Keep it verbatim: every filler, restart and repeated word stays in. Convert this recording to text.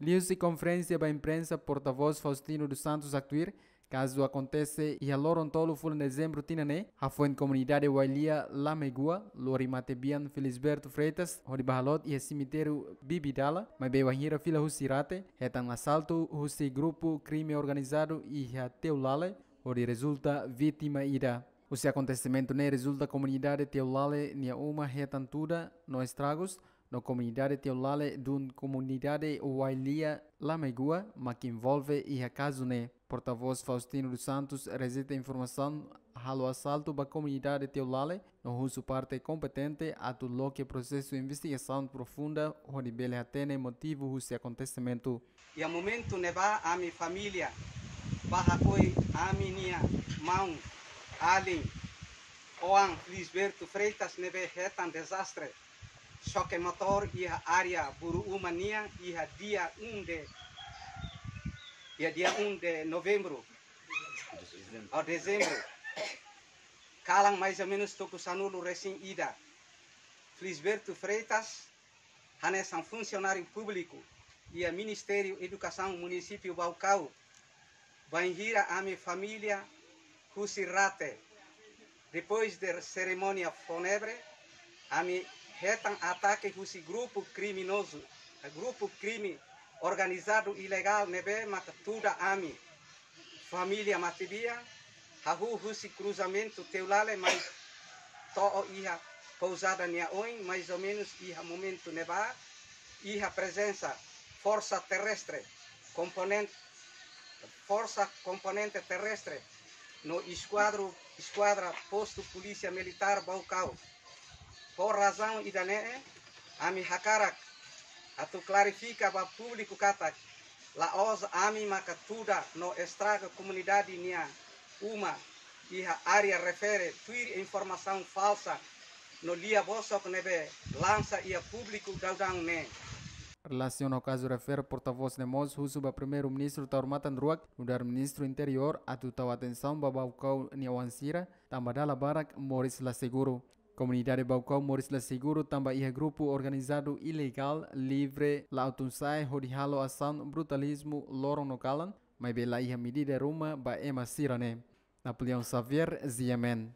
Liuhusi konferénsia ba imprensa, portavós Faustino dos Santos haktuir, kazu akontese iha loron tolu fulan dezembru tinan ne'e, hafoin komunidade Wailia Lamegua, lori matebian Felisberto Freitas, hodi bá halot iha semitériu Bibidala, maibé wainhira fila husi rate, hetan asaltu husi grupu krime organizadu iha Teulale, hodi rezulta vítima ida. Husi akontesimentu ne'e rezulta komunidade Teulale nia uma hetan tuda no estragus, no komunidade Teulale dun komunidade Wailia Lamegua mak envolve iha kazu ne'e. Portavós Faustino dos Santos rejeita informasaun halo asaltu ba komunidade Teulale, no husu parte kompetente atu loke prosesu investigasaun profunda hodi bele hatene motivu husi akontesimentu. Iha momentu ne'ebá ami família bá hakoi ami-nia maun, alin, oan Felisberto Freitas ne'ebé hetan dezastre xoke motór iha área Buru Uma nian iha dia um de, iha dia um de novembru, ou dezembru. Kalan mais ou menus tuku sanulu resin ida. Felisberto Freitas, hanesan funsionáriu públiku iha Ministériu Edukasaun Munisípiu Baucau, bainhira ami família husi rate. Depois de serimónia fúnebre, ami hetan atake husi grupu kriminozu, grupu krime organizadu ilegál ne'ebé maka tuda ami família matebian, hahú husi kruzamentu Teulale mai to'o iha pouzada nia oin, mais ou menus iha momentu ne'ebá, iha prezensa forsa terrestre, komponente, forsa komponente terrestre, no eskuadru, eskuadra postu Polísia Militár Baucau. Por razaun ida-ne'e, ami hakarak atu klarifika ba públiku katak, la'ós ami maka tuda no estraga komunidade nia uma iha área refere tuir informasaun falsa no lia bosok ne'ebé lansa iha públiku daudaun ne'e. Relasiona ho kazu refere, portavós ne'e mós husu ba Primeiru-Ministru Taur Matan Ruak, nu'udar Ministru Interiór atu tau atensaun ba Baucau nia oan sira, tanba dala barak moris la seguru. Komunidade Baucau moris la seguru tanba iha grupu organizadu ilegál livre la'o tun-sa'e hodi halo asaun brutalizmu loron no kalan, maibé la iha medida ruma ba ema sira-ne'e. Napoleão Xavier, G M N.